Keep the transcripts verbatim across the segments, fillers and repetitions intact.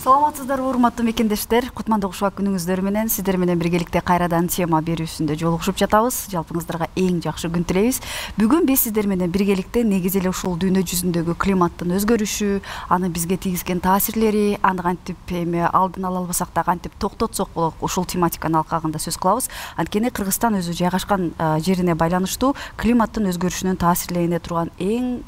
Саламатсыздарбы, урматтуу мекендештер. Кутмандуу кушубак күнүңүздөр менен сиздер менен биргеликте кайрадан тема берүүсүндө жолугушуп жатабыз. Жалпыңыздарга эң жакшы күн тилейбиз. Бүгүн биз сиздер менен биргеликте негизи эле ушул дүйнө жүзүндөгү климаттын өзгөрүшү, аны бизге тийгизген таасирлери, аны кантип эми алдын ала албасак да кантип токтотсок болот, ушул тематиканын алкагында сөз кылабыз. Анткени Кыргызстан өзү жайгашкан жерине байланыштуу климаттын өзгөрүшүнөн таасирлене турган эң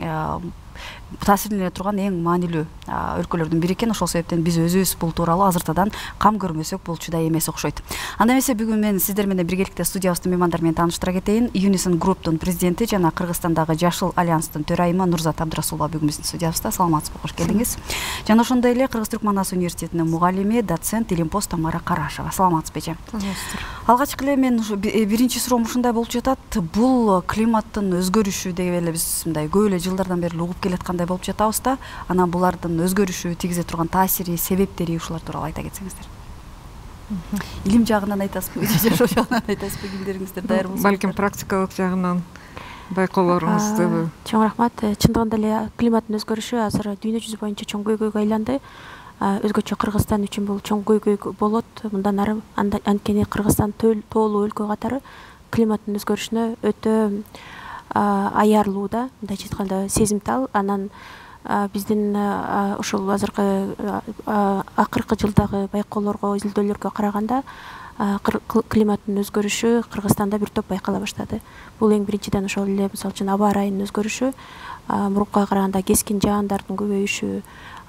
таасирлене турган эң маанилүү өлкөлөрдүн бири экен. Ошол себептен биз өзүбүз бул тууралуу азыртадан кам көрмөсөк болчу да эмес окшойт. Анда эмесе бүгүн мен сиздер менен биргеликте студиябыздын меймандар менен тааныштыра кетейин. Unison Group'тун президенти жана Кыргызстандагы Жашыл альянстын төрайымы Нурзат Абдрасулова бүгүн биздин студиябызда. Саламатсызбы, кош келдиңиз. Жана ошондой эле Кыргыз-Түрк Манас университетинин мугалими, доцент Илимпоз Тамара Карашева. Саламатсызбы эже? Саламатсыздар. Алгачкы эле мен биринчи суроом ушундай болуп жатат. Бул климаттын өзгөрүшү деп эле биз мындай көп эле жылдардан бери угуп келаткандай болуп жатабыз да. Анан булардын өзгөрүшү, тийгизе турган таасири, себептери ушулар тууралуу айта кетсеңиздер. Илим жагынан айтасызбы, жашоо жагынан айтасызбы, кимдериңиздер даяр болсо? Балким практикалык жагынан байкоолоруңузду. Чоң рахмат. Чындыгында эле климаттын өзгөрүшү азыр дүйнө жүзү боюнча чоң көйгөйгө айланды. Өзгөчө Кыргызстан үчүн бул чоң көйгөй болот. Мындан ары анткени Кыргызстан тоолуу өлкө катары климаттын өзгөрүшүнө өтө аярлуу да, мындайча айтканда сезимтал. Анан биздин ушул азыркы акыркы жылдагы байкоолорго, изилдөөлөргө караганда климаттын өзгөрүшү Кыргызстанда бир топ байкала баштады. Бул эң биринчиден ошол эле мисалы үчүн аба ырайынын өзгөрүшү, мурункуга караганда кескин жаандардын көбөйүшү,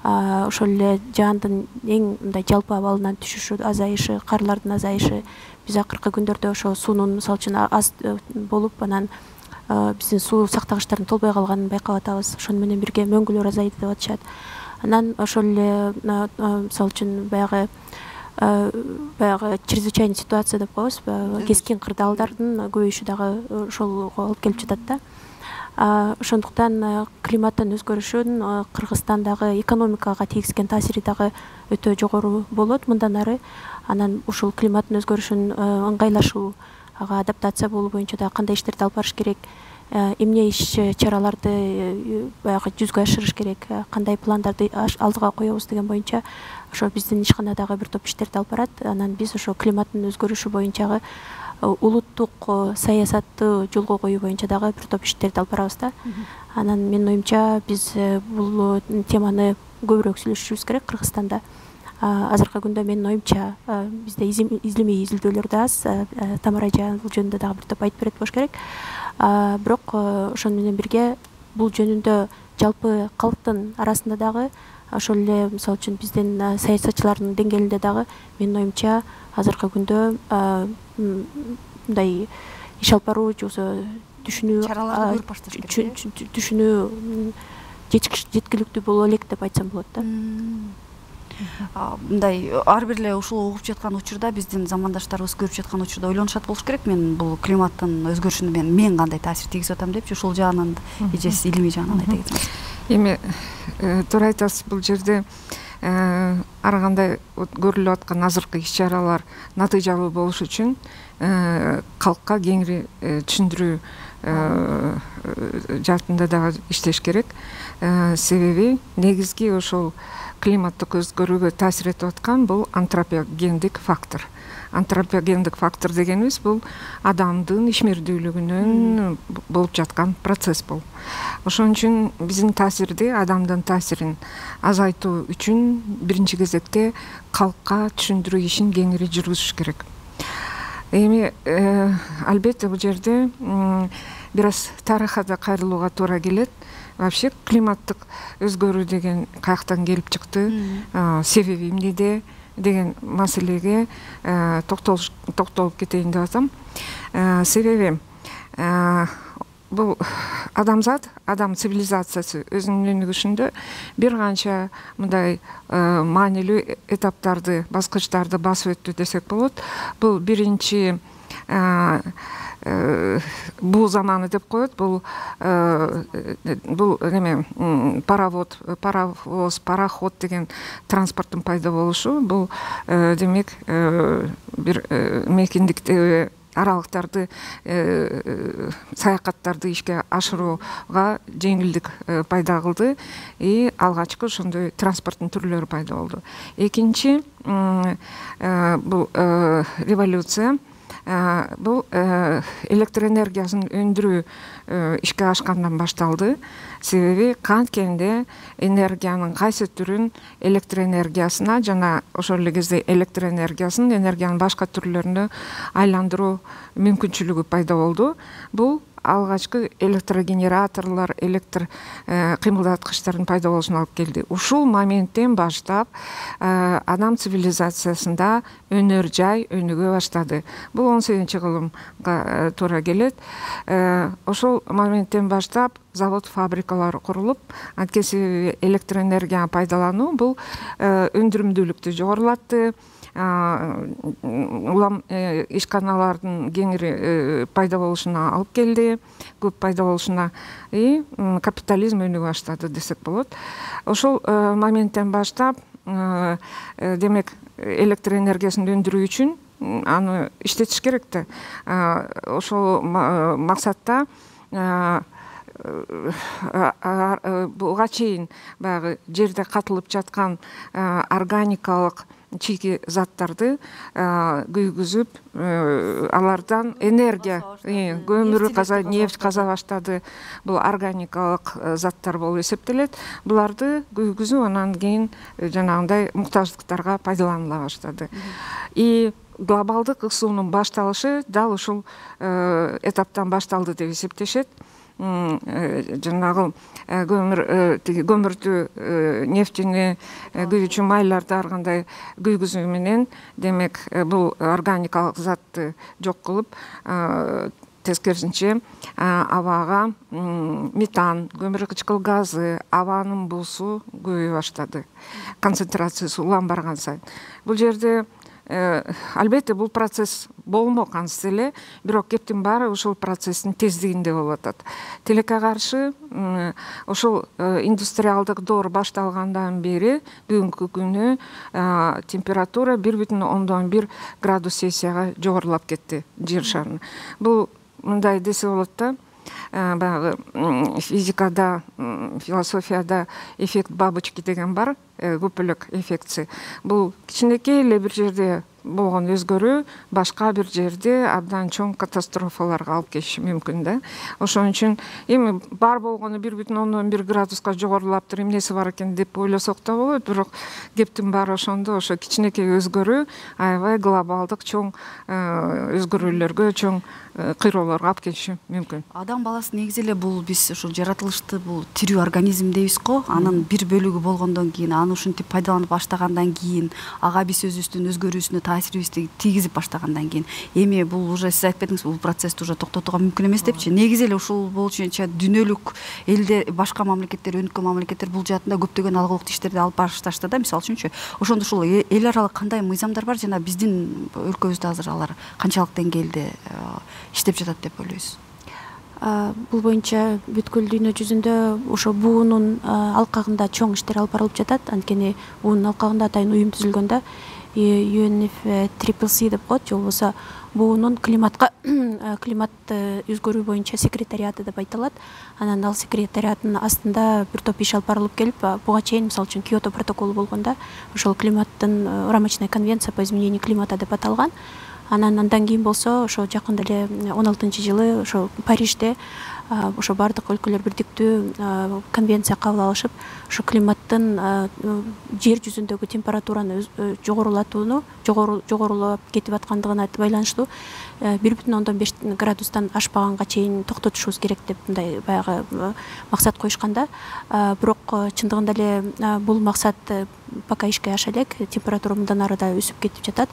ошол эле жаандын эң мындай жалпы абалынан түшүшү, азайышы, карлардын азайышы. Биз акыркы күндөрдө ошо суунун мисалы үчүн аз болуп, анан биздин суу сактагычтардын толбой калганын байкап атабыз. Ошону менен бирге мөңгүлөр азайды деп атышат. Анан ошол эле мисалы үчүн баягы баягы чрезвычайный ситуация деп коебуз, кескин кырдаалдардын көбөйүшү дагы ошолго алып келип жатат да. Ошондуктан климаттын өзгөрүшүн Кыргызстандагы экономикага тийгизген таасири дагы өтө жогору болот мындан ары. Анан ушул климаттын өзгөрүшүн ыңгайлашуу, ага адаптация болуу боюнча да кандай иштерди алып барыш керек, эмне иш чараларды баягы жүзгө ашырыш керек, кандай пландарды алдыга коебуз деген боюнча ошо биздин ишканадагы бир топ иштерди алып барат. Анан биз ошо климаттын өзгөрүшү боюнчагы улуттук саясатты жолго коюу боюнча дагы бир топ иштерди алып барабыз да. Анан менин оюмча биз бул теманы көбүрөөк сүйлөшүшүбүз керек Кыргызстанда. Азыркы күндө менин оюмча бизде изилимий изилдөөлөр да аз. Тамара эже бул жөнүндө дагы бир топ айтып берет болуш керек. Бирок ошону менен бирге бул жөнүндө жалпы калктын арасында дагы ошол эле мисалы үчүн биздин саясатчылардын деңгээлинде дагы менин оюмча азыркы күндө мындай иш алып баруу же болбосо түшүнүү чараларды көрүп башташ керек. Түшүнүү жеткиликтүү боло элек деп айтсам болот да. Мындай ар бир эле ушул угуп жаткан учурда биздин замандаштарыбыз көрүп жаткан учурда ойлонушат болуш керек. Мен бул климаттын өзгөрүшүнө мен мен кандай таасир тийгизип атам депчи, ушул жагынан эжесиз илимий жагынан айта кетсеңиз. Эми туура айтасыз, бул жерде ар кандай көрүлүп аткан азыркы иш чаралар натыйжалуу болуш үчүн калкка кеңири түшүндүрүү жаатында дагы иштеш керек. Себеби негизги ошол климаттык өзгөрүүгө таасир этип аткан бул антропогендик фактор. Антропогендик фактор дегенибиз бул адамдын ишмердүүлүгүнөн болуп жаткан процесс бул. Ошон үчүн биздин таасирди, адамдын таасирин азайтуу үчүн биринчи кезекте калкка түшүндүрүү ишин кеңири жүргүзүш керек. Эми албетте бул жерде бир аз тарыхка да кайрылууга туура келет. Вообще климаттык өзгөрүү деген каяктан келип чыкты, себеби эмнеде деген маселеге токтолуп кетейин деп атам. Себеби бул адамзат, адам цивилизациясы өзүнүн өнүгүшүндө бир канча мындай маанилүү этаптарды, баскычтарды басып өттү десек болот. Бул биринчи бул заманы деп коет. Бул бул эме паровод, паровоз, пароход деген транспорттун пайда болушу. Бул демек бир мекендикте аралыктарды саякаттарды ишке ашырууга жеңилдик пайда кылды и алгачкы ошондой транспорттун түрлөрү пайда болду. Экинчи бул революция бул электр энергиясын өндүрүү ишке ашкандан башталды. Себеби канткенде энергиянын кайсы түрүн электр энергиясына жана ошол эле кезде электр энергиясын энергиянын башка түрлөрүнө айландыруу мүмкүнчүлүгү пайда болду. Бул алгачкы электрогенераторлор, электр кыймылдаткычтардын пайда болушуна алып келди. Ушул моменттен баштап адам цивилизациясында өнөр жай өнүгө баштады. Бул он сегизинчи кылымга туура келет. Ошол моменттен баштап завод, фабрикалар курулуп, анткени себеби электр энергияны пайдалануу бул өндүрүмдүүлүктү жогорулатты. Улам ишканалардын кеңири пайда болушуна алып келди, көп пайда болушуна и капитализм өнүгө баштады десек болот. Ошол моменттен баштап демек электр энергиясын өндүрүү үчүн аны иштетиш керек да. Ошол максатта буга чейин баягы жерде катылып жаткан органикалык чийки заттарды күйгүзүп, алардан энергия, көмүр каза, нефть каза баштады. Бул органикалык заттар болуп эсептелет. Буларды күйгүзүп, анан кийин жанагындай муктаждыктарга пайдаланыла баштады. И глобалдык ысуунун башталышы дал ушул этаптан башталды деп эсептешет. Жанагы көмүр көмүрдү, нефтини күйүүчү майларды ар кандай күйгүзүү менен демек бул органикалык затты жок кылып, тескерисинче абага метан, көмүркычкыл газы, абанын буусу көбөйө баштады. Концентрациясы улам барган сайын. Бул жерде албетте бул процесс болмок ансы эле, бирок кептин баары ошол процесстин тездигинде болуп атат. Тилекке каршы ошол индустриалдык доор башталгандан бери бүгүнкү күнү температура бир бүтүн ондон бир градус Цельсияга жогорулап кетти жер шарынын. Бул мындай десе болот да, баягы физикада, философияда эффект бабочки деген бар, көпөлөк эффекти. Бул кичинекей эле бир жерде болгон өзгөрүү башка бир жерде абдан чоң катастрофаларга алып келиши мүмкүн да. Ошон үчүн эми бар болгону бир бүтүн ондон бир градуска жогорулаптыр, эмнеси бар экен деп ойлосок да болот, бирок кептин баары ошондо ошо кичинекей өзгөрүү аябай глобалдык чоң өзгөрүүлөргө, чоң кыйроолорго алып келиши мүмкүн. Адам баласы негизи эле бул биз ушул жаратылышты бул тирүү организм дейбиз го. Анын бир бөлүгү болгондон кийин, аны ушинтип пайдаланып баштагандан кийин, ага биз өзүбүздүн өзгөрүүсүнө таасирибизди тийгизип баштагандан кийин, эми бул уже сиз айтпедиңиз, бул процессти уже токтотууга мүмкүн эмес депчи. Негизи эле ушул болчунча дүйнөлүк элде башка мамлекеттер, өнүккөн мамлекеттер бул жаатында көптөгөн алгылык иштерди алып башташты да. Мисалы үчүнчү, ошондо ушул эл аралык кандай мыйзамдар бар жана биздин өлкөбүздө азыр алар канчалык деңгээлде иштеп жатат деп ойлойсуз? Бул боюнча бүткүл дүйнө жүзүндө ошо буунун алкагында чоң иштер алып барылып жатат. Анткени буунун алкагында атайын уюм түзүлгөн да, ю эн эф си си деп коет, же болбосо буунун климатка климат өзгөрүү боюнча секретариаты деп айтылат. Анан ал секретариаттын астында бир топ иш алып барылып келип, буга чейин мисалы үчүн Киото протоколу болгондо ошол климаттын рамочная конвенция по изменению климата деп аталган. Анан андан кийин болсо ошо жакында эле он алтынчы жылы ошо Парижде ошо бардык өлкөлөр бирдиктүү конвенция кабыл алышып, ошо климаттын жер жүзүндөгү температураны жогорулатууну, жогорулап кетип аткандыгына байланыштуу бир бүтүн ондон беш градустан ашпаганга чейин токтотушубуз керек деп мындай баягы максат коюшкан да. Бирок чындыгында эле бул максат пока ишке аша элек, температура мындан ары да өсүп кетип жатат.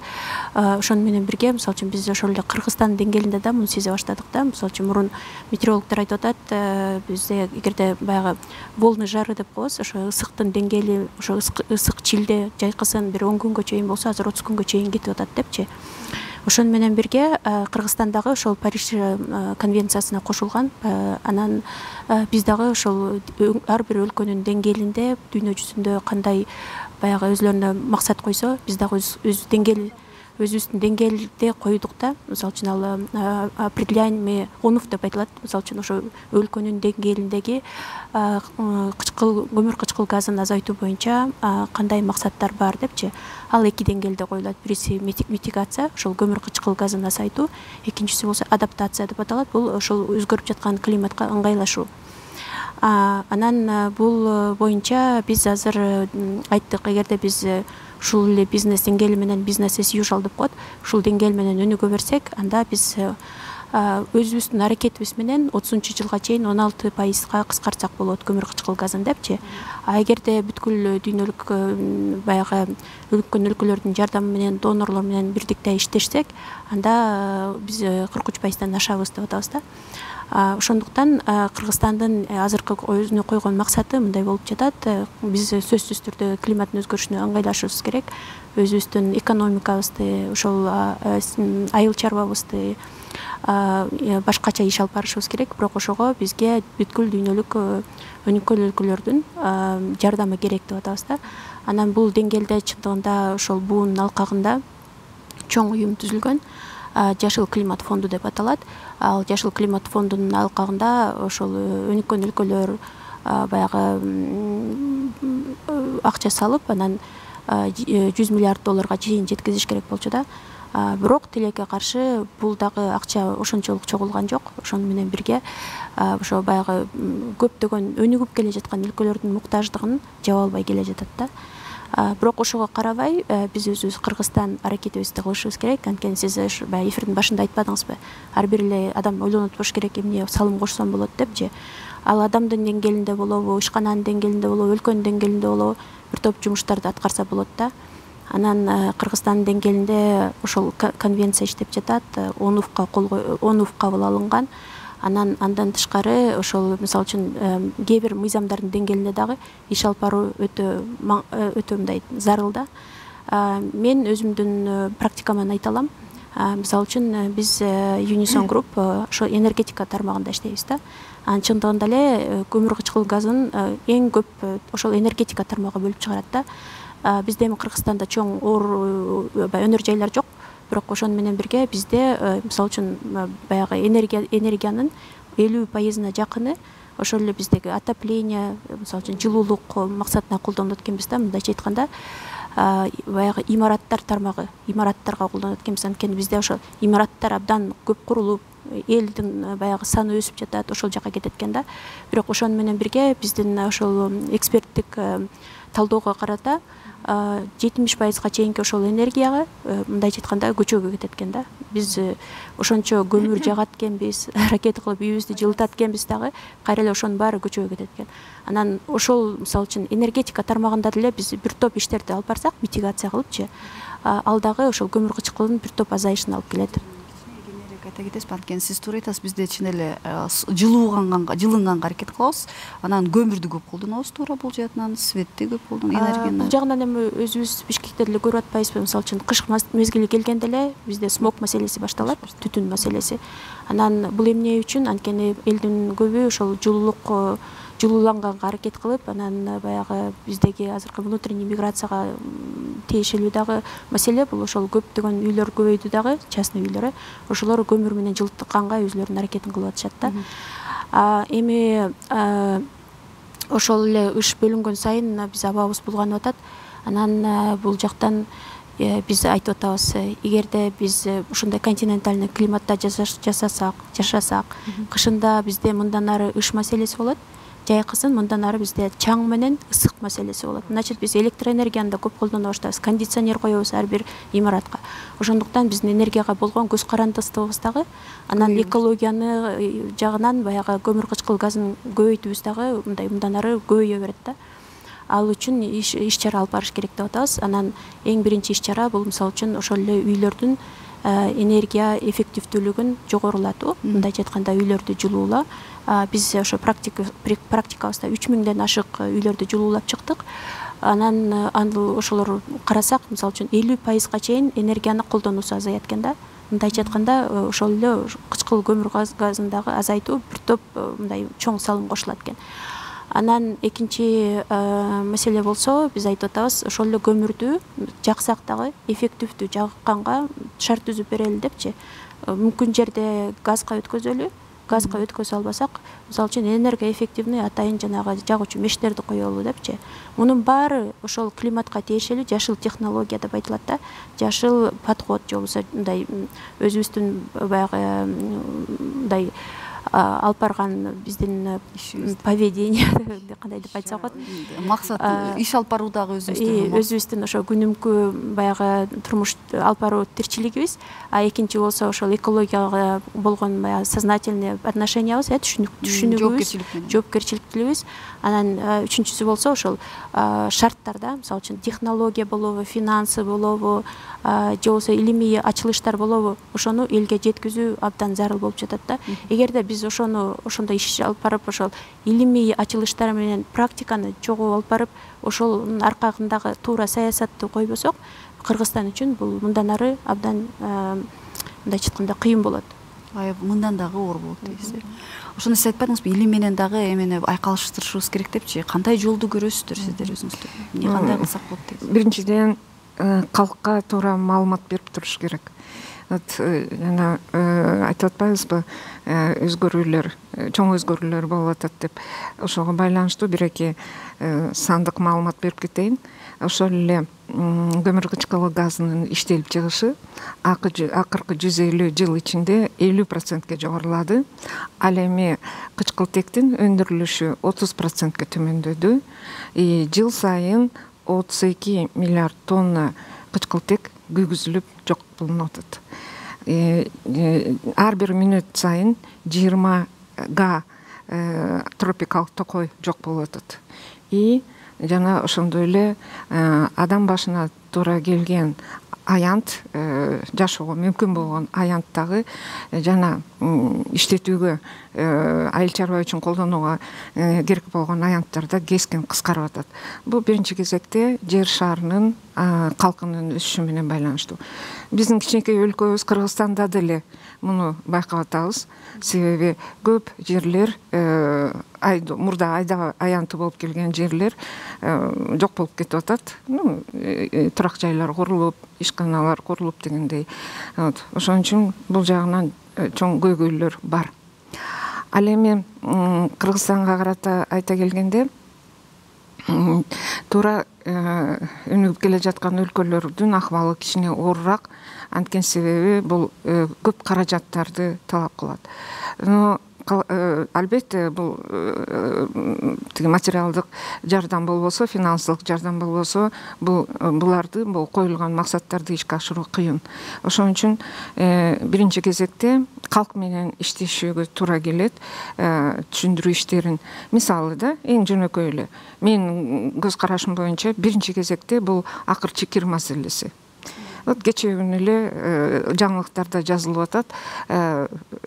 Ошону менен бирге, мисалы үчүн биз ошол эле Кыргызстан деңгээлинде да муну сезе баштадык да. Мисалы үчүн мурун метеорологдор айтып атат, бизде эгерде баягы волны жары деп коебуз, ошо ысыктын деңгээли, ошо ысык чилде жайкысын бир он күнгө чейин болсо, азыр отуз күнгө чейин кетип атат депчи. Ошону менен бирге Кыргызстан дагы ошол Париж конвенциясына кошулган. Анан биз дагы ошол ар бир өлкөнүн деңгээлинде дүйнө жүзүндө кандай баягы өзлөрүнө максат койсо, биз дагы өз деңгээл өзүбүздүн деңгээлде койдук да. Мисалы үчүн ал определяемый онуф деп айтылат. Мисалы үчүн ошо өлкөнүн деңгээлиндеги кычкыл көмүр кычкыл газын азайтуу боюнча кандай максаттар бар депчи. Ал эки деңгээлде коюлат. Бириси митигация, ошол көмүр кычкыл газын азайтуу, экинчиси болсо адаптация деп аталат. Бул ошол өзгөрүп жаткан климатка ыңгайлашуу. Анан бул боюнча биз азыр айттык, эгерде биз ушул эле бизнес деңгээли менен бизнес as usual деп коет, ушул деңгээл менен өнүгө берсек, анда биз өзүбүздүн аракетибиз менен отузунчу жылга чейин он алты пайызга кыскартсак болот көмүр кычкыл газын депчи. А эгерде бүткүл дүйнөлүк баягы өлкөн өлкөлөрдүн жардамы менен, донорлор менен бирдикте иштешсек, анда биз кырк үч пайыздан ашабыз деп атабыз да. Ошондуктан Кыргызстандын азыркы өзүнө койгон максаты мындай болуп жатат. Биз сөзсүз түрдө климаттын өзгөрүшүнө ыңгайлашышыбыз керек. Өзүбүздүн экономикабызды, ошол айыл чарбабызды башкача иш алып барышыбыз керек. Бирок ошого бизге бүткүл дүйнөлүк өнүккөн өлкөлөрдүн жардамы керек деп атабыз да. Анан бул деңгээлде чындыгында ошол буунун алкагында чоң уюм түзүлгөн. Жашыл климат фонду деп аталат. Ал жашыл климат фондунун алкагында ошол өнүккөн өлкөлөр баягы акча салып, анан жүз миллиард долларга чейин жеткизиш керек болчу да. Бирок тилекке каршы бул дагы акча ошончолук чогулган жок. Ошону менен бирге ошо баягы көптөгөн өнүгүп келе жаткан өлкөлөрдүн муктаждыгын жаба албай келе жатат да. Бирок ошого карабай биз өзүбүз Кыргызстан аракетибизди кылышыбыз керек. Анткени сиз баягы эфирдин башында айтпадыңызбы? Ар бир эле адам ойлонуп туруш керек, эмне салым кошсом болот депчи. Ал адамдын деңгээлинде болобу, ишкананын деңгээлинде болобу, өлкөнүн деңгээлинде болобу бир топ жумуштарды аткарса болот да. Анан Кыргызстандын деңгээлинде ошол конвенция иштеп жатат, онуфка онуф кабыл алынган. Анан андан тышкары ошол мисалы үчүн кээ бир мыйзамдардын деңгээлинде дагы иш алып баруу өтө өтө мындай зарыл да. Мен өзүмдүн практикаман айта алам. Мисалы үчүн биз Unison Group ошо энергетика тармагында иштейбиз да. Анын чындыгында эле көмүр кычкыл газын эң көп ошол энергетика тармагы бөлүп чыгарат да. Бизде эми Кыргызстанда чоң оор өнөр жайлар жок. Бирок ошону менен бирге бизде мисалы үчүн баягы энергия энергиянын элүү пайызына жакыны ошол эле биздеги отопление, мисалы үчүн жылуулук максатына колдонот экенбиз да. Мындайча айтканда баягы имараттар тармагы, имараттарга колдонот экенбиз. Анткени бизде ошо имараттар абдан көп курулуп, элдин баягы саны өсүп жатат, ошол жака кетет экен да. Бирок ошону менен бирге биздин ошол эксперттик талоого карата жетимиш пайызга чейинки ошол энергияга мындайча айтканда көчөгө кетет экен да. Биз ошончо көмүр жагат экенбиз, ракета кылып үйүбүздү жылытат экенбиз дагы, кайра эле ошонун баары көчөгө кетет экен. Анан ошол мисалы үчүн энергетика тармагында деле биз бир топ иштерди алып барсак, митигация кылыпчы, ал дагы ошол көмүр кычкылынын бир топ азайышына алып келет. Айта кетесиз, анткени сиз туура айтасыз, бизде чын эле жылууганга, жылынганга аракет кылабыз. Анан көмүрдү көп колдонобуз, туура бул жаатынан светти көп колдонобуз, энергияны. Бул жагынан эми өзүбүз Бишкекте деле көрүп атпайбызбы? Мисалы үчүн кыш мезгили келгенде эле бизде смог маселеси башталат, түтүн маселеси. Анан бул эмне үчүн? Анткени элдин көбү ошол жылуулук жылууланганга аракет кылып, анан баягы биздеги азыркы внутренний миграцияга тиешелүү дагы маселе бул ошол көптөгөн үйлөр көбөйдү дагы, частный үйлөр. Ошолор көмүр менен жылытканга өзүлөрүнүн аракетин кылып атышат да. Эми ошол эле ыш бөлүнгөн сайын биз абабыз булганып атат. Анан бул жактан биз айтып атабыз, эгерде биз ушундай континентальный климатта жасасак, жашасак, кышында бизде мындан ары ыш маселеси болот. Жайкысын мындан ары бизде чаң менен ысык маселеси болот. Значит, биз электроэнергияны да көп колдоно баштайбыз, кондиционер коебуз ар бир имаратка. Ошондуктан биздин энергияга болгон көз карандысыбыз дагы, анан экологияны жагынан баягы көмүр кычкыл газын көбөйтүүбүз дагы мындай мындан ары көбөйө берет да. Ал үчүн иш чара алып барыш керек деп атабыз. Анан эң биринчи иш чара бул мисалы үчүн ошол эле үйлөрдүн энергия эффективдүүлүгүн жогорулатуу, мындайча айтканда үйлөрдү жылуулоо. Биз ошо практикабызда үч миңден ашык үйлөрдү жылуулап чыктык. Анан ошолор карасак, мисалы үчүн элүү пайызга чейин энергияны колдонуусу азаят экен да. Мындайча айтканда ошол эле кычкыл көмүр газын дагы азайтуу бир топ мындай чоң салым кошулат экен. Анан экинчи маселе болсо, биз айтып атабыз, ошол эле көмүрдү жаксак дагы эффективдүү жакканга шарт түзүп берели депчи. Мүмкүн жерде газга өткөзөлү, газга өткөзө албасак, мисалы үчүн энергоэффективный атайын жанагы жагуучу мештерди коелу депчи. Мунун баары ошол климатка тиешелүү жашыл технология деп айтылат да. Жашыл подход же болбосо мындай өзүбүздүн баягы мындай алып барган биздин поведение кандай деп айтсак болот, максат иш алып баруудагы өзүбүздүн өзүбүздүн ошо күнүмкү баягы турмуш алып баруу тирчилигибиз, а экинчи болсо ошол экологияга болгон баягы сознательный отношениябыз, э түшүнүгүбүз, жоопкерчиликтүүлүгүбүз. Анан үчүнчүсү болсо ошол шарттар да, мисалы үчүн технология болобу, финансы болобу, же болбосо илимий ачылыштар болобу, ошону элге жеткизүү абдан зарыл болуп жатат да. Эгерде биз ошону ошондой иш алып барып, ошол илимий ачылыштар менен практиканы чогуу алып барып, ошонун аркагындагы туура саясатты койбосок, Кыргызстан үчүн бул мындан ары абдан мындайча айтканда кыйын болот. Мындан дагы оор болот дейсиз. Ошону сиз айтпадыңызбы, илим менен дагы эмени айкалыштырышыбыз керек депчи. Кандай жолду көрөсүздөр сиздер өзүңүздөр? Эмне кандай кылсак болот дейсиз? Биринчиден калкка туура маалымат берип туруш керек. Вот жана айтып атпайбызбы, өзгөрүүлөр, чоң өзгөрүүлөр болуп атат деп. Ошого байланыштуу бир-эки сандык маалымат берип кетейин. Ошол эле көмүр кычкылы газынын иштелип чыгышы акыркы жүз элүү жыл ичинде элүү процентке жогорулады. Ал эми кычкылтектин өндүрүлүшү отуз процентке төмөндөдү. Жыл сайын отуз эки миллиард тонна кычкылтек күйгүзүлүп жок болуп атат. Ар бир мүнөт сайын жыйырма га тропикалык токой жок болуп атат. И жана ошондой эле адам башына туура келген аянт, жашоого мүмкүн болгон аянт дагы жана иштетүүгө, айыл чарба үчүн колдонууга керек болгон аянттар да кескин кыскарып атат. Бул биринчи кезекте жер шарынын калкынын өсүшү менен байланыштуу. Биздин кичинекей өлкөбүз Кыргызстанда деле муну байкап атабыз. Себеби көп жерлер мурда айда аянты болуп келген жерлер жок болуп кетип атат. Турак жайлар курулуп, ишканалар курулуп дегендей. Ошон үчүн бул жагынан чоң көйгөйлөр бар. Ал эми Кыргызстанга карата айта келгенде, туура өнүгүп келе жаткан өлкөлөрдүн акыбалы кичине оорураак, анткени себеби бул көп каражаттарды талап кылат. Но албетте бул тиги материалдык жардам болбосо, финансылык жардам болбосо, бул буларды, бул коюлган максаттарды ишке ашыруу кыйын. Ошон үчүн биринчи кезекте калк менен иштешүүгө туура келет. Түшүндүрүү иштерин, мисалы да, эң жөнөкөй эле, менин көз карашым боюнча биринчи кезекте бул акыр чекир маселеси. Вот кечээ күнү эле жаңылыктарда жазылып атат.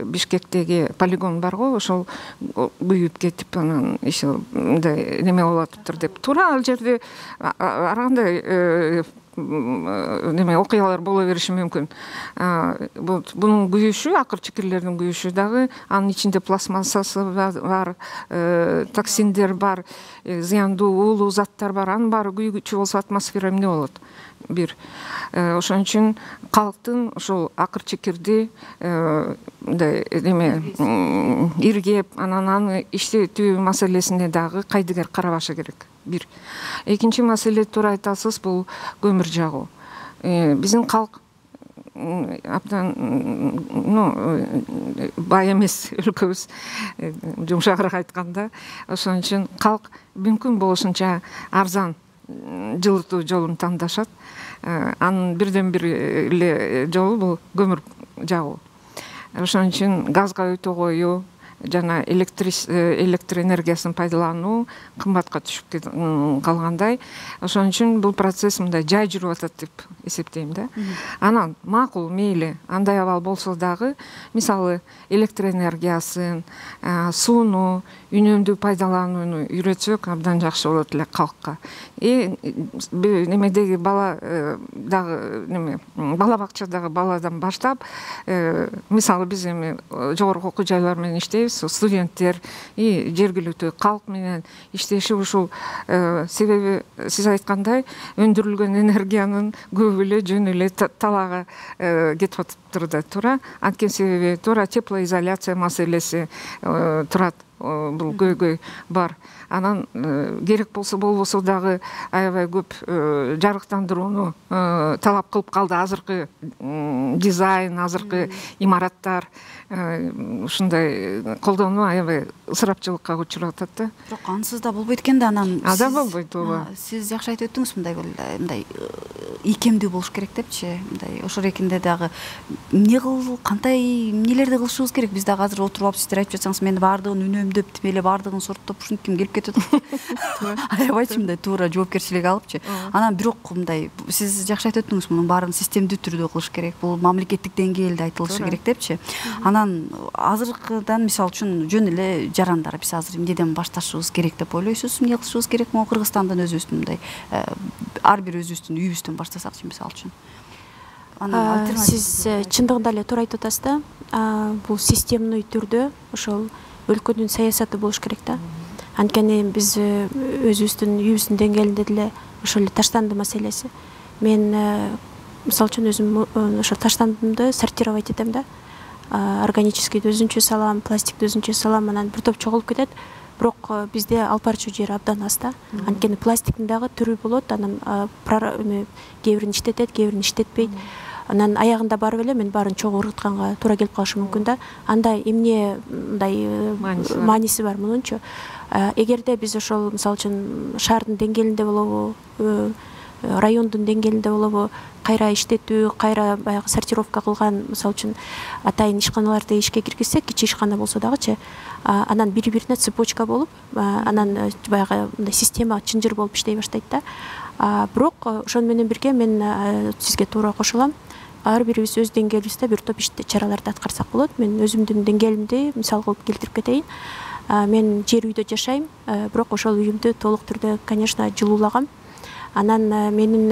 Бишкектеги полигон барго, ошол күйүп кетип, анан иши мындай неме болуп атыптыр деп. Туура ал жерде ар кандай неме окуялар боло бериши мүмкүн. Бунун күйүшү, акыр чекирлердин күйүшү дагы, анын ичинде пластмассасы бар, токсиндер бар, зыяндуу уулуу заттар бар. Анын баары күйгүчү болсо атмосфера эмне болот? Бир. Ошон үчүн калктын ошол акыр чекирди мындай неме иргеп, анан аны иштетүү маселесине дагы кайдыгер карабашы керек. Бир. Экинчи маселе, туура айтасыз, бул көмүр жагуу. Биздин калк абдан бай эмес өлкөбүз, жумшагыраак айтканда. Ошон үчүн калк мүмкүн болушунча арзан жылытуу жолун тандашат. Анын бирден бир эле жолу бул көмүр жагуу. Ошон үчүн газга өтө коюу жана электр энергиясын пайдалануу кымбатка түшүп калгандай. Ошон үчүн бул процесс мындай жай жүрүп атат деп эсептейм да. Анан макул, мейли, андай абал болсо дагы, мисалы электр энергиясын, сууну үнөмдүү пайдаланууну үйрөтсөк абдан жакшы болот эле калкка. и немедеги бала дагы неме бала бакчадагы баладан баштап мисалы биз эми жогорку окуу жайлар менен иштейбиз, студенттер и жергиликтүү калк менен иштеши ушул себеби сиз айткандай өндүрүлгөн энергиянын көбү эле жөн эле талаага кетип атыптыр да туура. Анткени себеби туура теплоизоляция маселеси турат, бул көйгөй бар. Анан керек болсо болбосо дагы аябай көп жарыктандырууну талап кылып калды азыркы дизайн, азыркы имараттар. Ушундай колдонуу аябай ысырапчылыкка учуруп атат да. Бирок ансыз да болбойт экен да. Анан ада болбойт, ооба. Сиз жакшы айтып өттүңүз, мындай мындай ийкемдүү болуш керек депчи. Мындай ошол эркинде дагы эмне кыл, кандай эмнелерди кылышыбыз керек? Биз дагы азыр отуруп алып сиздер айтып жатсаңыз, мен баардыгын үнөмдөп, тим эле баардыгын сорттоп ушинтип келип кетип атат. Аябайчы мындай туура жоопкерчилик алыпчы. Анан бирок мындай сиз жакшы айтып өттүңүз, мунун баарын системдүү түрдө кылыш керек. Бул мамлекеттик деңгээлде айтылышы керек депчи. Анан азыркыдан мисалы үчүн жөн эле жарандар биз азыр эмнеден башташыбыз керек деп ойлойсуз? Эмне кылышыбыз керек? Могу Кыргызстандан өзүбүздүн мындай ар бир өзүбүздүн үйүбүздөн баштасакчы мисалы үчүн. Сиз чындыгында эле туура айтып атасыз да. Бул системный түрдө ошол өлкөнүн саясаты болуш керек да. Анткени биз өзүбүздүн үйүбүздүн деңгээлинде деле ошол эле таштанды маселеси. Мен мисалы үчүн өзүм ошо таштандымды сортировать этем да. Органическийди өзүнчө салам, пластикти өзүнчө салам, анан бир топ чогулуп кетет. Бирок бизде алып барчу жери абдан аз да. Анткени пластиктин дагы түрү болот, анан кээ бирин иштетет, кээ бирин иштетпейт. Анан аягында барып эле мен баарын чогуу ыргытканга туура келип калышы мүмкүн да. Анда эмне мындай мааниси бар мунунчу? Эгерде биз ошол мисалы үчүн шаардын деңгээлинде болобу, райондун деңгээлинде болобу, кайра иштетүү, кайра баягы сортировка кылган, мисалы үчүн атайын ишканаларды ишке киргизсек, кичи ишкана болсо дагычы, анан бири-бирине цепочка болуп, анан баягы мындай система чынжыр болуп иштей баштайт да. Бирок ошону менен бирге мен сизге туура кошулам. Ар бирибиз өз деңгээлибизде бир топ ишти чараларды аткарсак болот. Мен өзүмдүн деңгээлимди мисал кылып келтирип кетейин. Мен жер үйдө жашайм, бирок ошол үйүмдү толук түрдө, конечно, жылуулагам. Анан менин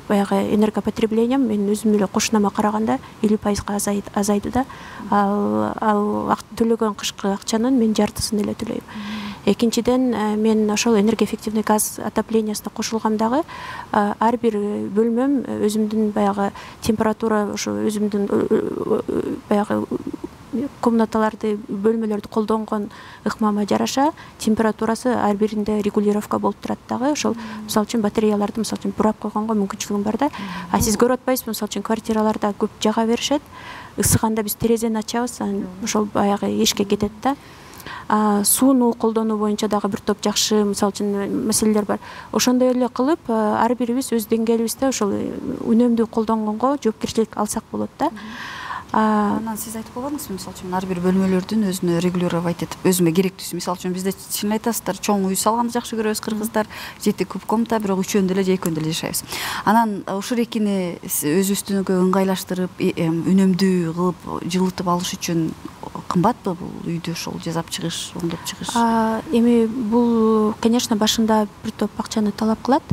баягы энергопотреблением мен өзүм эле кошунама караганда элүү пайызга азайды да. Ал төлөгөн кышкы акчанын мен жартысын эле төлөйм. Экинчиден, мен ошол энергоэффективный газ отоплениясына кошулгам дагы ар бир бөлмөм өзүмдүн баягы температура, ошо өзүмдүн баягы комнаталарды, бөлмөлөрдү колдонгон ыкмама жараша температурасы ар биринде регулировка болуп турат дагы. Ошол мисалы үчүн батареяларды мисалы үчүн бурап койгонго мүмкүнчүлүгүм бар да. А сиз көрүп атпайсызбы, мисалы үчүн квартираларда көп жага беришет. Ысыганда биз терезени ачабыз, ошол баягы эшикке кетет да. Сууну колдонуу боюнча дагы бир топ жакшы мисалы үчүн маселелер бар. Ошондой эле кылып ар бирибиз өз деңгээлибизде ошол үнөмдүү колдонгонго жоопкерчилик алсак болот да. Анан сиз айтып койгонуңузбу, мисалы үчүн ар бир бөлмөлөрдүн өзүнө регулировать этип, өзүмө керектүүсү, мисалы үчүн бизде чын айтасыздар, чоң үй салганды жакшы көрөбүз кыргыздар, жети куб комната, бирок үчөөндө эле жайкөндө эле жашайбыз. Анан ушул экини өзүбүздүнкү ыңгайлаштырып, үнөмдүү кылып жылытып алыш үчүн кымбатпы бул үйдү ошол жасап чыгыш, оңдоп чыгыш? Эми бул, конечно, башында бир топ акчаны талап кылат.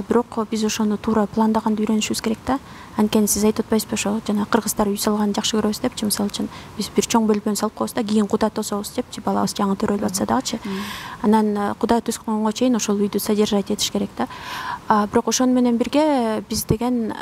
Бирок биз ошону туура пландаганды үйрөнүшүбүз керек да. Анткени сиз айтып атпайсызбы, ошо жана кыргыздар үй салганды жакшы көрөбүз депчи, мисалы үчүн биз бир чоң бөлмөнү салып коебуз да, кийин куда тособуз депчи, балабыз жаңы төрөлүп атса дагычы. Анан куда төскөнгө чейин ошол үйдү содержать этиш керек да. Бирок ошону менен бирге биз деген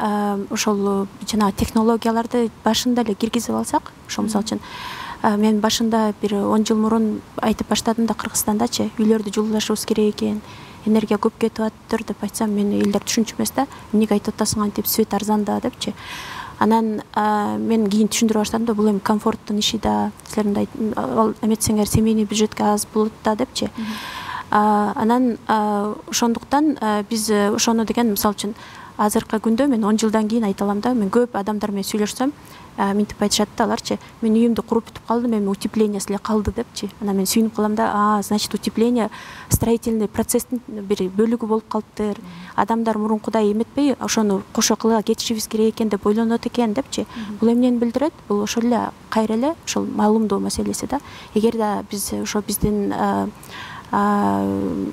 ошол жана технологияларды башында эле киргизип алсак, ошо мисалы үчүн мен башында бир он жыл мурун айтып баштадым да, Кыргызстандачы үйлөрдү жылуулашыбыз керек экен, энергия көп кетип атыптыр деп айтсам, мени элдер түшүнчү эмес да. Эмнеге айтып атасың антип, свет арзан да депчи. Анан мен кийин түшүндүрө баштадым да, бул эми комфорттун иши да, силер мындай эметсеңер семейный бюджетке аз болот да депчи. Анан ошондуктан биз ошону деген мисалы үчүн азыркы күндө мен он жылдан кийин айта алам да, мен көп адамдар менен сүйлөшсөм, минтип айтышат да аларчы, мен үйүмдү куруп бүтүп калдым, эми утепление эле калды депчи. Анан мен сүйүнүп калам да, а, значит, утепление строительный процесстин бир бөлүгү болуп калыптыр. Адамдар мурункудай эметпей, ошону кошо кыла кетишибиз керек экен деп ойлонот экен депчи. Бул эмнени билдирет? Бул ошол эле кайра эле ошол маалымдоо маселеси да. Эгерде биз ошо биздин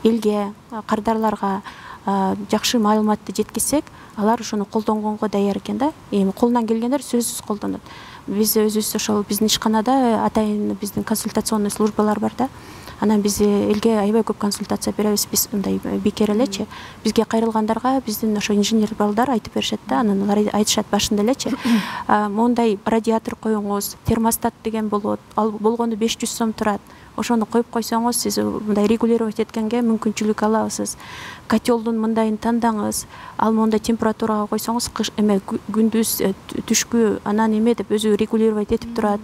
элге, кардарларга жакшы маалыматты жеткизсек, алар ошону колдонгонго даяр экен да. Эми колунан келгендер сөзсүз колдонот. Биз өзүбүз ошол биздин ишканада атайын биздин консультационный службалар бар да. Анан биз элге аябай көп консультация беребиз, биз мындай бекер элечи. Бизге кайрылгандарга биздин ошо инженер балдар айтып беришет да, анан алар айтышат башында элечи. Мондай радиатор коюңуз, термостат деген болот. Ал болгону беш жүз сом турат. Ошону коюп койсоңуз, сиз мындай регулировать эткенге мүмкүнчүлүк аласыз. Котелдун мындайын тандаңыз. Ал мондай температурага койсоңуз, кыш эме күндүз түшкү анан эме деп өзү регулировать этип турат.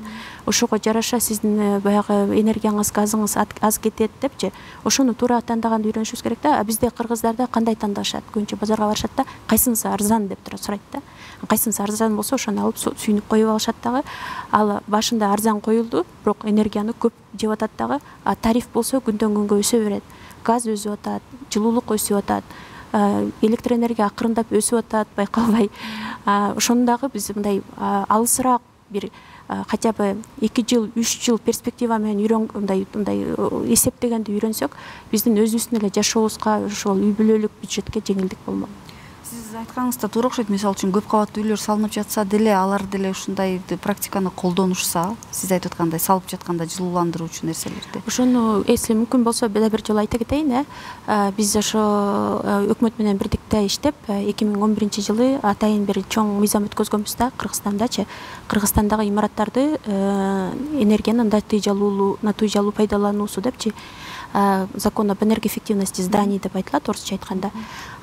Ошого жараша сиздин баягы энергияңыз, газыңыз аз кетет депчи. Ошону туура тандаганды үйрөнүшүбүз керек да. А бизде кыргыздарда кандай тандашат? Көбүнчө базарга барышат да, кайсынысы арзан деп тура сурайт да. Кайсынысы арзан болсо ошону алып сүйүнүп коюп алышат дагы. Ал башында арзан коюлду, бирок энергияны көп жеп атат дагы. А тариф болсо күндөн күнгө өсө берет. Газ өсүп атат, жылуулук өсүп атат, электроэнергия акырындап өсүп атат, байкалбай. Ошону дагы биз мындай алысыраак бир хотя бы эки жыл, үч жыл перспектива менен үйрөн мындай мындай эсептегенди үйрөнсөк, биздин өзүбүздүн эле жашообузга, ошол үй бүлөлүк бюджетке жеңилдик болмок. Сиз айтканыңызда туура окшойт. Мисалы үчүн көп кабаттуу үйлөр салынып жатса деле, алар деле ушундай практиканы колдонушса, сиз айтып аткандай салып жатканда жылууландыруучу нерселерди. Ошону если мүмкүн болсо бир жолу айта кетейин, э. Биз ошо өкмөт менен бирдикте иштеп, эки миң он биринчи жылы атайын бир чоң мыйзам өткөзгөнбүз да Кыргызстандачы. Кыргызстандагы имараттарды энергиянын натыйжалуу натыйжалуу пайдалануусу депчи. Закон об энергоэффективности зданий деп айтылат орусча айтканда.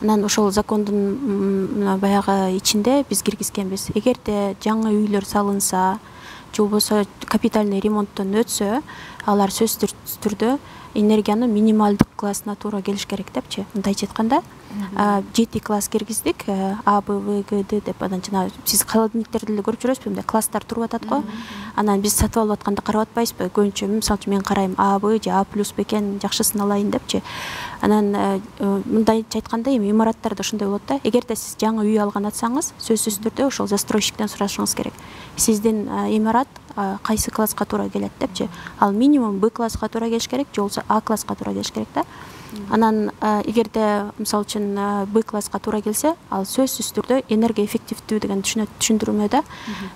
Анан ошол закондун баягы ичинде биз киргизгенбиз. Эгерде жаңы үйлөр салынса, же болбосо капитальный ремонттон өтсө, алар сөзсүз түрдө энергияны минималдык классына туура келиш керек депчи. Мындайча айтканда, жети класс киргиздик, А, Б, В, Г, Д деп. Анан жана сиз холодильниктерди эле көрүп жүрөсүзбү, мындай класстар туруп атат го. Анан биз сатып алып атканда карап атпайбызбы? Көбүнчө мисалы үчүн мен карайм А, Б же А плюс бекен, жакшысын алайын депчи. Анан мындайча айтканда эми имараттарда ушундай болот да. Эгерде сиз жаңы үй алган атсаңыз, сөзсүз түрдө ошол застройщиктен сурашыңыз керек. Сиздин имарат кайсы класска туура келет депчи. Ал минимум Б класска туура келиш керек, же болбосо А класска туура келиш керек да. Анан эгерде мисалы үчүн Б класска туура келсе, ал сөзсүз түрдө энергоэффективдүү деген түшүндүрмө да.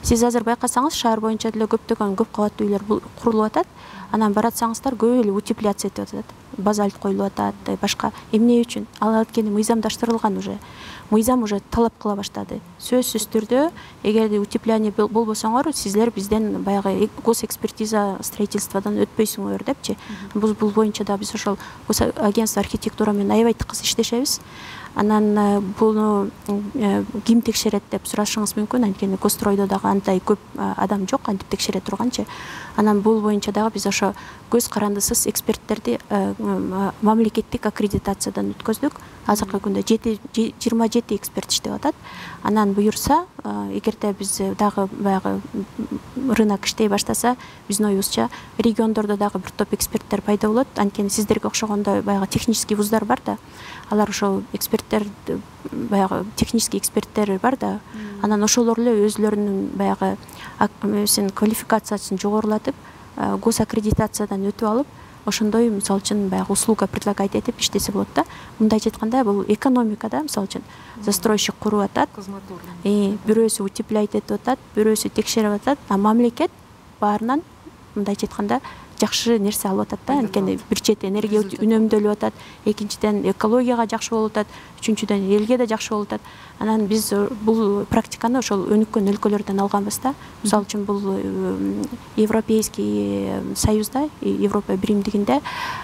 Сиз азыр байкасаңыз, шаар боюнча деле көптөгөн көп кабаттуу үйлөр курулуп атат. Анан баратсаңыздар көп эле утепляция этип атат. Базальт коюлуп атат, башка. Эмне үчүн? Ал анткени мыйзамдаштырылган уже. Мыйзам уже талап кыла баштады. Сөзсүз түрдө, эгерде утепление болбосоңор, сиздер бизден баягы госэкспертиза строительстводан өтпөйсүңөр депчи. Бул бул боюнча да биз ошол агентство архитектура менен аябай тыкыз иштешебиз. Анан буну ким текшерет деп сурашыңыз мүмкүн. Анткени Костройдо дагы андай көп адам жок, антип текшере турганчы. Анан бул боюнча дагы биз ошо көз карандысыз эксперттерди мамлекеттик аккредитациядан өткөздүк. Азыркы күндө жыйырма жети эксперт иштеп атат. Анан буюрса, эгерде биз дагы баягы рынок иштей баштаса, биздин оюбузча региондордо дагы бир топ эксперттер пайда болот. Анткени сиздерге окшогондой баягы технический вуздар бар да. Алар ошол эксперттер баягы технический эксперттер бар да. Анан ошолор эле өзлөрүнүн баягы эмесин квалификациясын жогорулатып, госаккредитациядан өтүп алып, ошондой мисалы үчүн баягы услуга предлагать этип иштесе болот да. Мындайча айтканда, бул экономикада мисалы үчүн застройщик куруп атат, бирөөсү утепляйт этип атат, бирөөсү текшерип атат, а мамлекет баарынан мындайча айтканда жакшы нерсе алып атат да. Анткени бир чети энергия үнөмдөлүп атат, экинчиден экологияга жакшы болуп атат, үчүнчүдөн элге да жакшы болуп атат. Анан биз бул практиканы ошол өнүккөн өлкөлөрдөн алганбыз да. Мисалы үчүн бул Европейский союзда, Европа биримдигинде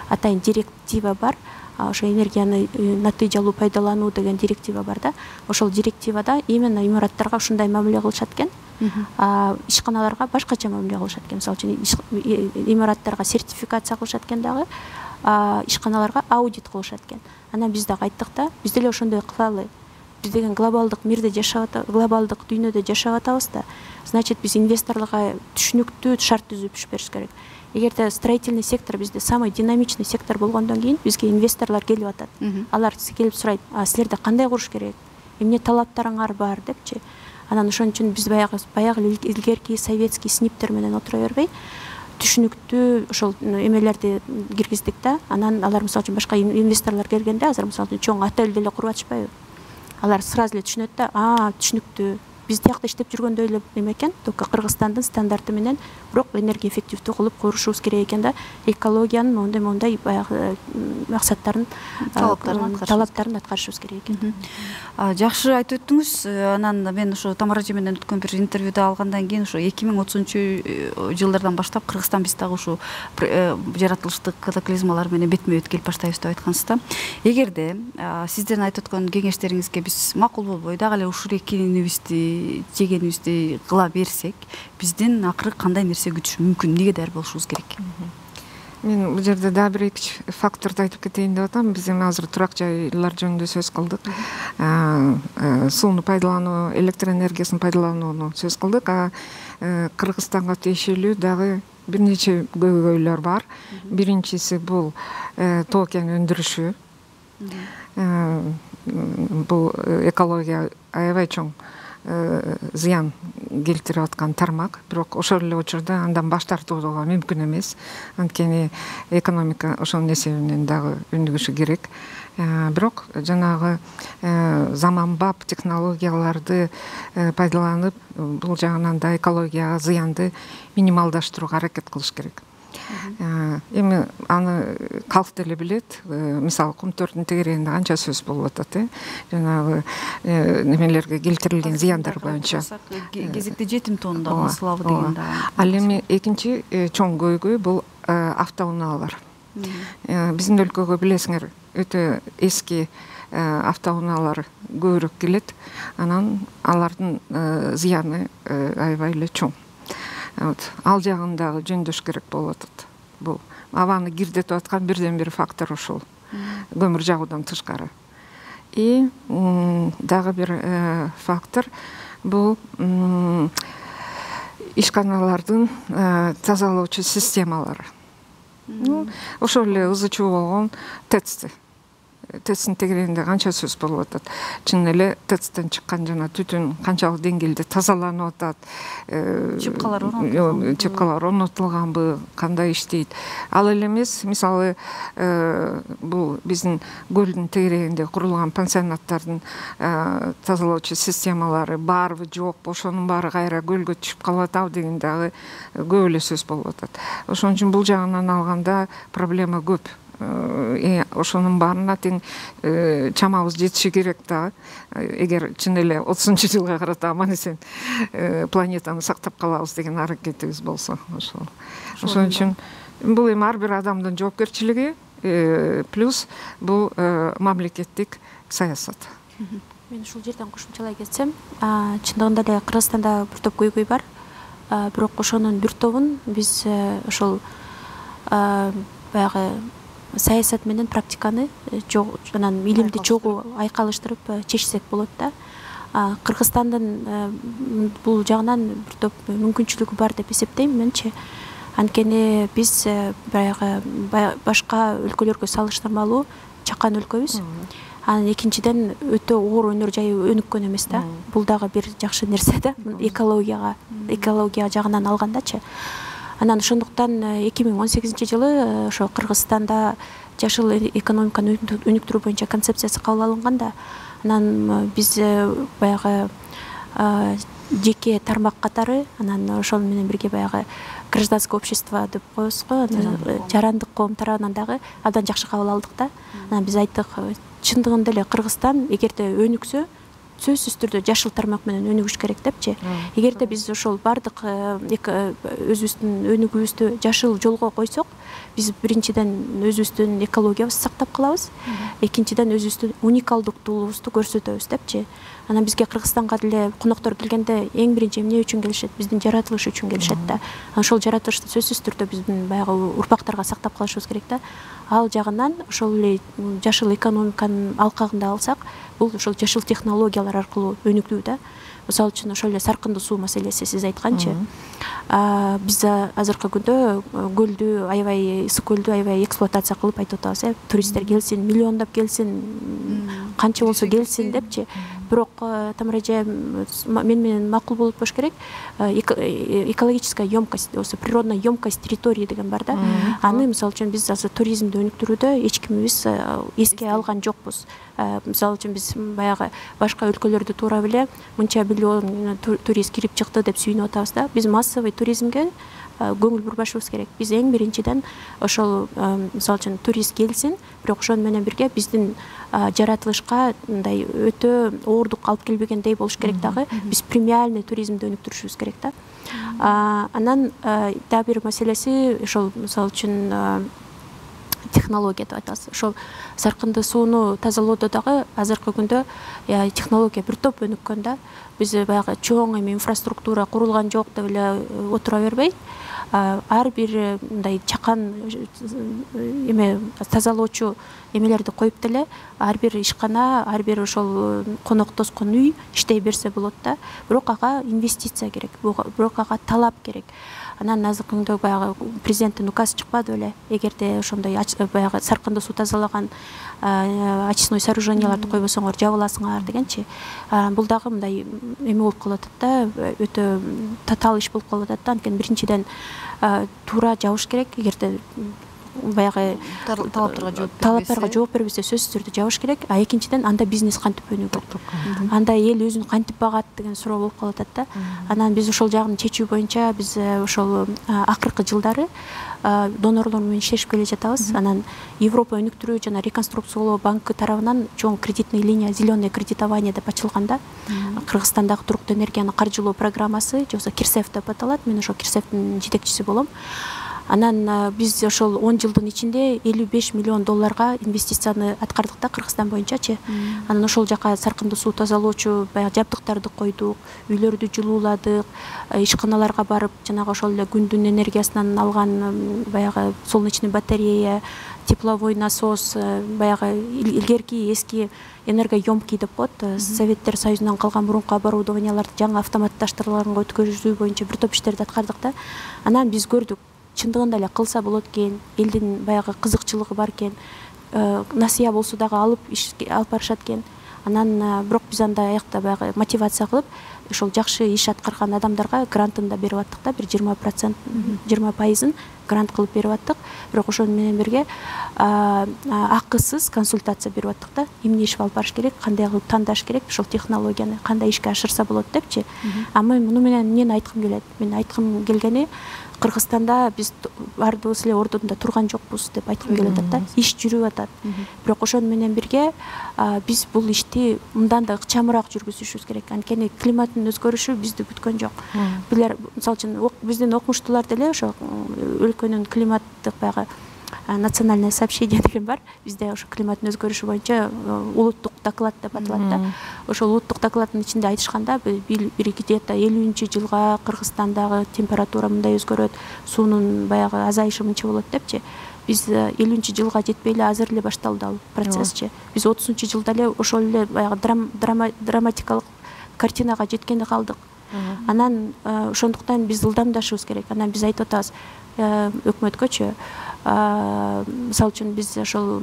атайын директива бар. Ошо энергияны натыйжалуу пайдалануу деген директива бар да. Ошол директивада именно имараттарга ушундай мамиле кылышат экен. Ишканаларга башкача мамиле кылышат экен. Мисалы үчүн имараттарга сертификация кылышат экен дагы, ишканаларга аудит кылышат экен. Анан биз дагы айттык да, биз деле ошондой кылалы. Биз деген глобалдык мирде жашап атабыз, глобалдык дүйнөдө жашап атабыз да. Значит, биз инвесторлорго түшүнүктүү шарт түзүп бериш керек. Эгерде строительный сектор бизде самый динамичный сектор болгондон кийин бизге инвесторлор келип атат. Алар келип сурайт: "А силерде кандай куруш керек? Эмне талаптарыңар бар?" депчи. Анан ошон үчүн биз баягы баягы илгерки советский сниптер менен отура бербей, түшүнүктүү ошол эмелерди киргиздик да. Анан алар мисалы үчүн башка инвесторлор келгенде азыр мисалы үчүн чоң отель деле куруп атышпайбы? Алар сразу эле түшүнөт да, а түшүнүктүү. Биз тиякта иштеп жүргөндөй эле эме экен, только Кыргызстандын стандарты менен, бирок энергия эффективдүү кылып курушубуз керек экен да. Экологиянын мондай мондай баягы максаттарын, талаптарын аткарышыбыз керек экен. Жакшы айтып өттүңүз. Анан мен ошо Тамара эже менен өткөн бир интервьюда алгандан кийин ошо эки миң отузунчу жылдардан баштап Кыргызстан биз дагы ушу жаратылыштык катаклизмалар менен бетме бет келип баштайбыз деп айткансыз да. Эгерде сиздердин айтып өткөн кеңештериңизге биз макул болбой дагы эле ушул экенибизди жегенибизди кыла берсек, биздин акыры кандай нерсе күтүш мүмкүн, эмнеге даяр болушубуз керек? Мен бул жерде дагы бир эки факторду айтып кетейин деп атам. Биз эми азыр турак жайлар жөнүндө сөз кылдык. Сууну пайдалануу, электр энергиясын пайдаланууну сөз кылдык. А Кыргызстанга тиешелүү дагы бир нече көйгөйлөр бар. Биринчиси бул тоо кен өндүрүшү. Бул экология аябай чоң зыян келтирип аткан тармак, бирок ошол эле учурда андан баш тартууга мүмкүн эмес. Анткени экономика ошонун эсебинен дагы өнүгүшү керек. Бирок жанагы заманбап технологияларды пайдаланып, бул жагынан да экологияга зыянды минималдаштырууга аракет кылыш керек. Эми аны калк деле билет. Мисалы кумтөрдүн тегерегинде канча сөз болуп атат, э? Жанагы немелерге келтирилген зыяндар боюнча. Кезекте жетим тоннада слабы деген да. Ал эми экинчи чоң көйгөй бул автоунаалар. Биздин өлкөгө билесиңер, өтө эски автоунаалар көбүрөөк келет. Анан алардын зыяны аябай эле чоң. Ал жагын дагы жөндөш керек болуп атат. Бул абаны кирдетип аткан бирден бир фактор ушул. Көмүр жагуудан тышкары. И дагы бир фактор бул ишканалардын тазалоочу системалары. Ошол эле ызы чуу болгон ТЭЦ. ТЭЦтин тегерегинде канча сөз болуп атат. Чын эле ТЭЦтен чыккан жана түтүн канчалык деңгээлде тазаланып атат, чыпкалар орнотулган, чыпкалар орнотулганбы, кандай иштейт. Ал эле эмес, мисалы бул биздин көлдүн тегерегинде курулган пансионаттардын тазалоочу системалары барбы, жокпу, ошонун баары кайра көлгө түшүп калып атабы деген дагы көп эле сөз болуп атат. Ошон үчүн бул жагынан алганда проблема көп. Ошонун баарына тең чамабыз жетиши керек да. Эгер чын эле отузунчу жылга карата аман эсен планетаны сактап калабыз деген аракетибиз болсо, ошол. Ошон үчүн бул эми ар бир адамдын жоопкерчилиги, плюс бул мамлекеттик саясат. Мен ушул жерден кошумчалай кетсем, чындыгында эле Кыргызстанда бир топ көйгөй бар. Бирок ошонун бир тобун биз ошол баягы саясат менен практиканы анан илимди чогуу айкалыштырып чечсек болот да. Кыргызстандын бул жагынан бир топ мүмкүнчүлүгү бар деп эсептейм менчи. Анткени биз баягы башка өлкөлөргө салыштырмалуу чакан өлкөбүз. Анан экинчиден өтө оор өнөр жайы өнүккөн эмес да. Бул дагы бир жакшы нерсе да. Экологияга, экология жагынан алгандачы. Анан ошондуктан эки миң он сегизинчи жылы ошо Кыргызстанда жашыл экономиканы өнүктүрүү боюнча концепциясы кабыл алынганда, анан биз баягы жеке тармак катары, анан ошол менен бирге баягы гражданское общество деп коебуз го, жарандык коом тарабынан дагы абдан жакшы кабыл алдык да. Анан биз айттык, чындыгында эле Кыргызстан эгерде өнүксө, сөзсүз түрдө жашыл тармак менен өнүгүш керек депчи. Эгерде биз ошол бардык өзүбүздүн өнүгүүбүздү жашыл жолго койсок, биз биринчиден өзүбүздүн экологиябызды сактап калабыз, экинчиден өзүбүздүн уникалдыктуулугубузду көрсөтөбүз депчи. Анан бизге Кыргызстанга деле коноктор келгенде эң биринчи эмне үчүн келишет? Биздин жаратылыш үчүн келишет да. Ошол жаратылышты сөзсүз түрдө биздин баягы урпактарга сактап калышыбыз керек да. Ал жагынан ошол эле жашыл экономиканын алкагында алсак, бул ошол жашыл технологиялар аркылуу өнүгүү да. Мисалы үчүн ошол эле саркындуу суу маселеси сиз айтканчы. Биз азыркы күндө көлдү аябай, ысык көлдү аябай эксплуатация кылып айтып атабыз, э, туристтер келсин, миллиондоп келсин, канча болсо келсин депчи. бирок Тамара эже мен менен макул болуп болуш керек. Экологическая емкость, осы природная емкость территории деген бар да. Аны мисалы үчүн биз азыр туризмди өнүктүрүүдө эч кимибиз эске алган жокпуз. Мисалы үчүн биз баягы башка өлкөлөрдө туура эле мынча миллион турист кирип чыкты деп сүйүнүп атабыз да. Биз массовый туризмге көңүл бурбашыбыз керек. Биз эң биринчиден ошол мисалы үчүн турист келсин, бирок ошону менен бирге биздин жаратылышка мындай өтө оордук алып келбегендей болуш керек дагы. Биз премиальный туризмди өнүктүрүшүбүз керек да. Анан дагы бир маселеси ошол мисалы үчүн технология деп айтабыз. Ошол саркынды сууну тазалоодо дагы азыркы күндө технология бир топ өнүккөн да. Биз баягы чоң эми инфраструктура курулган жок деп эле отура бербей, ар бир мындай чакан эме тазалоочу эмелерди коюп деле ар бир ишкана, ар бир ошол конок тоскон үй иштей берсе болот да. Бирок ага инвестиция керек, бирок ага талап керек. Анан азыркы күндө баягы президенттин указы чыкпады беле, эгерде ошондой баягы саркынды суу тазалаган очистной сооруженияларды койбосоңор жабыласыңар дегенчи. Бул дагы мындай эме болуп калат да, өтө татаал иш болуп калат да. Анткени биринчиден туура жабыш керек, эгерде баягы талаптарга жооп талаптарга жооп бербесе сөзсүз түрдө жабыш керек. А экинчиден анда бизнес кантип өнүгөт, анда эл өзүн кантип багат деген суроо болуп калат да. Анан биз ошол жагын чечүү боюнча биз ошол акыркы жылдары донорлор менен иштешип келе жатабыз. Анан Европа өнүктүрүү жана реконструкциялоо банкы тарабынан чоң кредитный линия, зеленое кредитование деп ачылган да. Кыргызстандагы туруктуу энергияны каржылоо программасы, же болбосо Кирсев деп аталат. Мен ошол Кирсевдин жетекчиси болом. Анан биз ошол он жылдын ичинде элүү беш миллион долларга инвестицияны аткардык да Кыргызстан боюнчачы. Анан ошол жака саркынды суу тазалоочу баягы жабдыктарды койдук, үйлөрдү жылууладык, ишканаларга барып жанагы ошол эле күндүн энергиясынан алган баягы солнечный батарея, тепловой насос, баягы илгерки эски энергоемкий деп коет, Советтер Союзунан калган мурунку оборудованияларды жаңы автоматташтырылганга өткөрүү боюнча бир топ иштерди аткардык да. Анан биз көрдүк, чындыгында эле кылса болот экен, элдин баягы кызыкчылыгы бар экен, насыя болсо дагы алып алып барышат экен. Анан бирок биз анда аякта баягы мотивация кылып, ошол жакшы иш аткарган адамдарга грантын да берип аттык да, бир жыйырма процент, жыйырма пайызын грант кылып берип аттык. Бирок ошону менен бирге акысыз консультация берип аттык да. Эмне иш алып барыш керек, кандай кылып тандаш керек, ошол технологияны кандай ишке ашырса болот депчи. А мен муну менен эмнени айткым келет? Мен айткым келгени, Кыргызстанда биз баардыгыбыз эле ордунда турган жокпуз деп айткым келип атат да. Иш жүрүп атат. Бирок ошону менен бирге биз бул ишти мындан да ыкчамыраак жүргүзүшүбүз керек. Анткени климаттын өзгөрүшү бизди күткөн жок. Билер, мисалы үчүн, биздин окумуштуулар деле ошо өлкөнүн климаттык баягы национальное сообщение деген бар. Бизде ошо климаттын өзгөрүшү боюнча улуттук доклад деп аталат да. Ошол улуттук докладдын ичинде айтышканда бир где-то элүүнчү жылга Кыргызстандагы температура мындай өзгөрөт, суунун баягы азайышы мынча болот депчи. Биз элүүнчү жылга жетпей эле азыр эле башталды ал процессчи. Биз отузунчу жылда эле ошол эле баягы драматикалык картинага жеткенде калдык. Анан ошондуктан биз ылдамдашыбыз керек. Анан биз айтып атабыз өкмөткөчү, мисалы үчүн биз ошол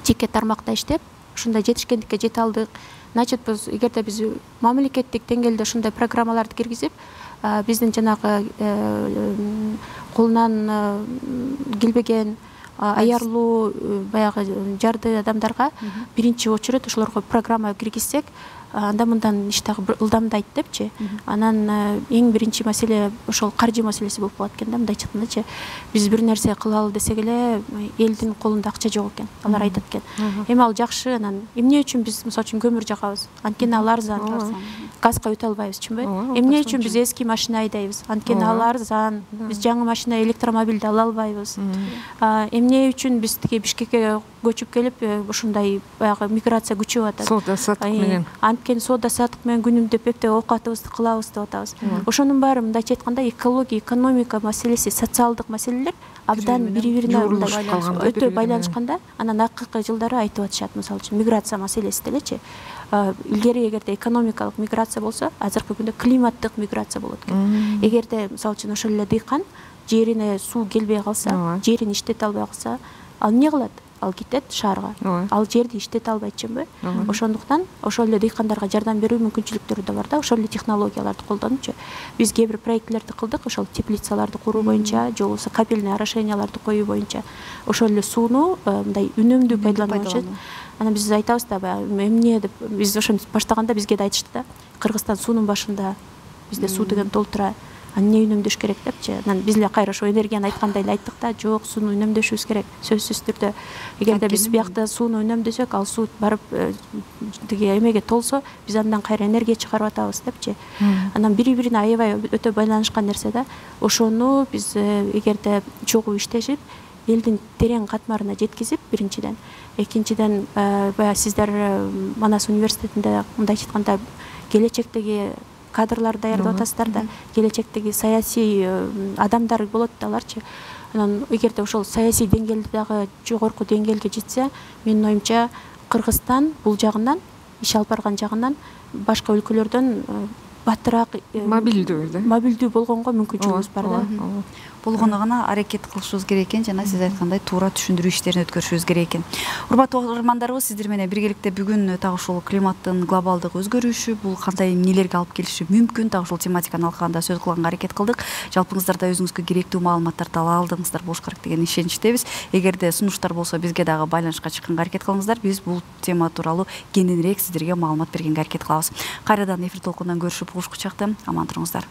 жеке тармакта иштеп, ушундай жетишкендикке жете алдык. Значит, биз эгерде биз мамлекеттик деңгээлде ушундай программаларды киргизип, биздин жанагы колунан келбеген аярлуу баягы жарды адамдарга биринчи очередь ошолорго программа киргизсек, анда мындан иш дагы ылдамдайт депчи. Анан эң биринчи маселе ошол каржы маселеси болуп калат экен да, мындай айткандачы. Биз бир нерсе кылалы десек эле элдин колунда акча жок экен. Алар айтат экен. Эми ал жакшы, анан эмне үчүн биз мисалы үчүн көмүр жагабыз? Анткени ал арзан. Газга өтө албайбыз, чынбы? Эмне үчүн биз эски машина айдайбыз? Анткени ал арзан. Биз жаңы машина, электромобилди ала албайбыз. Эмне үчүн биз тиги Бишкекке көчүп келип ушундай баягы миграция күчөп атат? Соода саттык менен. Анткени соода саттык менен күнүмдөп эптеп оокатыбызды кылабыз деп атабыз. Ошонун баары мындайча айтканда экология, экономика маселеси, социалдык маселелер абдан бири-бирине өтө байланышканда. Анан акыркы жылдары айтып атышат, мисалы үчүн миграция маселеси делечи. Илгери эгерде экономикалык миграция болсо, азыркы күндө климаттык миграция болот экен. Эгерде мисалы үчүн ошол эле дыйкан жерине суу келбей калса, жерин иштете албай калса, ал эмне кылат? ал кетет шаарга, Ооба. ал жерди иштете албайт чынбы? Ооба. Ошондуктан ошол эле дыйкандарга жардам берүү мүмкүнчүлүктөрү да бар да, ошол эле технологияларды колдонупчу биз кээ бир проектлерди кылдык, ошол теплицаларды куруу боюнча же болбосо капельный орошенияларды коюу боюнча ошол эле сууну мындай үнөмдүү пайдалануу боюнча. Анан биз айтабыз да, баягы эмне деп биз ошону баштаганда бизге да айтышты да, Кыргызстан суунун башында, бизде суу деген толтура, эмне үнөмдөш керек депчи. Анан биз эле кайра ошо энергияны айткандай эле айттык да, жок, сууну үнөмдөшүбүз керек, сөзсүз түрдө. Эгерде биз биякта сууну үнөмдөсөк, ал суу барып тиги эмеге толсо, биз андан кайра энергия чыгарып атабыз депчи. Анан бири-бирине аябай өтө байланышкан нерсе да. Ошону биз эгерде чогуу иштешип, элдин терең катмарына жеткизип, биринчиден, экинчиден баягы сиздер Манас университетинде мындайча айтканда келечектеги кадрлар даярдап атасыздар да, келечектеги саясий адамдар болот да аларчы. Анан эгерде ошол саясий деңгээлде дагы жогорку деңгээлге жетсе, менин оюмча Кыргызстан бул жагынан, иш алып барган жагынан башка өлкөлөрдөн батыраак, мобилдүү да, мобилдүү болгонго мүмкүнчүлүгүбүз бар да. Болгону гана аракет кылышыбыз керек экен, жана сиз айткандай туура түшүндүрүү иштерин өткөрүшүбүз керек экен. Урматтуу угармандарыбыз, сиздер менен биргеликте бүгүн так ушул климаттын глобалдык өзгөрүшү, бул кандай эмнелерге алып келиши мүмкүн, так ушул тематиканы алкаганда сөз кылганга аракет кылдык. Жалпыңыздар да өзүңүзгө керектүү маалыматтарды ала алдыңыздар болуш керек деген ишеничтебиз. Эгерде сунуштар болсо, бизге дагы байланышка чыкканга аракет кылыңыздар. Биз бул тема тууралуу кененирээк сиздерге маалымат бергенге аракет кылабыз. Кайрадан эфир толкунунан көрүшүп, угушкучакты. Аман туруңуздар.